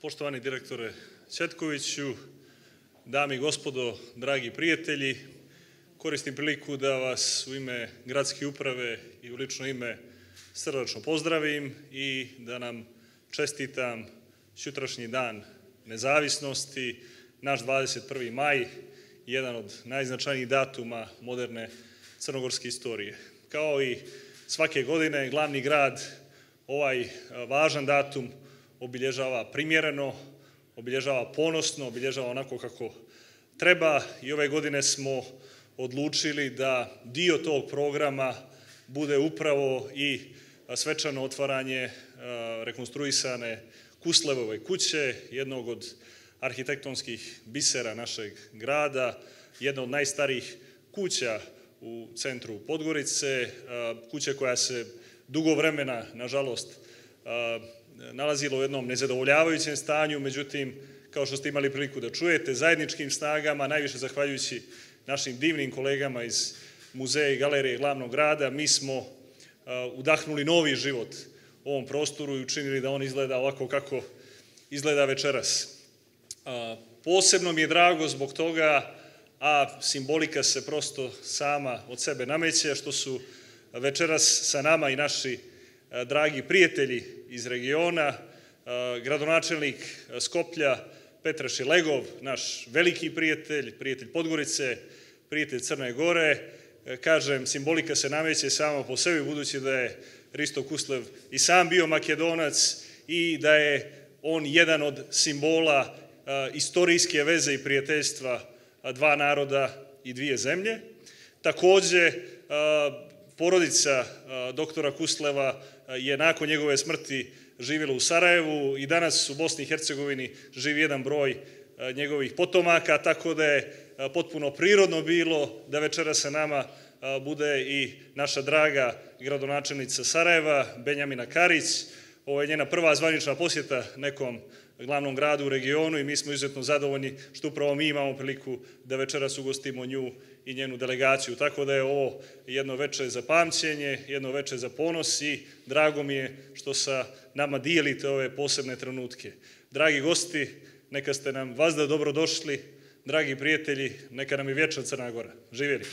Poštovani direktore Ćetkoviću, dame i gospodo, dragi prijatelji, koristim priliku da vas u ime gradske uprave i u lično ime srdačno pozdravim i da nam čestitam sutrašnji dan nezavisnosti, naš 21. maj, jedan od najznačajnijih datuma moderne crnogorske istorije. Kao i svake godine, glavni grad ovaj važan datum obilježava primjereno, obilježava ponosno, obilježava onako kako treba i ove godine smo odlučili da dio tog programa bude upravo i svečano otvaranje rekonstruisane Kuslevove kuće, jednog od arhitektonskih bisera našeg grada, jedna od najstarijih kuća u centru Podgorice, kuća koja se dugo vremena, nažalost, nalazila u jednom nezadovoljavajućem stanju, međutim, kao što ste imali priliku da čujete, zajedničkim snagama, najviše zahvaljujući našim divnim kolegama iz muzeja i galerije glavnog grada, mi smo udahnuli novi život ovom prostoru i učinili da on izgleda ovako kako izgleda večeras. Posebno mi je drago zbog toga, a simbolika se prosto sama od sebe nameće, što su večeras sa nama i naši dragi prijatelji iz regiona, gradonačelnik Skoplja Petar Šilegov, naš veliki prijatelj, prijatelj Podgorice, prijatelj Crne Gore. Kažem, simbolika se nameće sama po sebi, budući da je Risto Kuslev i sam bio Makedonac i da je on jedan od simbola istorijske veze i prijateljstva dva naroda i dvije zemlje. Takođe, porodica doktora Kusleva je nakon njegove smrti živjela u Sarajevu i danas u Bosni i Hercegovini živi jedan broj njegovih potomaka, tako da je potpuno prirodno bilo da večera sa nama bude i naša draga gradonačelnica Sarajeva, Benjamina Karić. Ovo je njena prva zvanična posjeta nekom glavnom gradu u regionu i mi smo izuzetno zadovoljni što upravo mi imamo priliku da večeras ugostimo nju i njenu delegaciju. Tako da je ovo jedno veče za pamćenje, jedno veče za ponos i drago mi je što sa nama dijelite ove posebne trenutke. Dragi gosti, neka ste nam vazda dobro došli, dragi prijatelji, neka nam je vječna Crna Gora. Živjeli!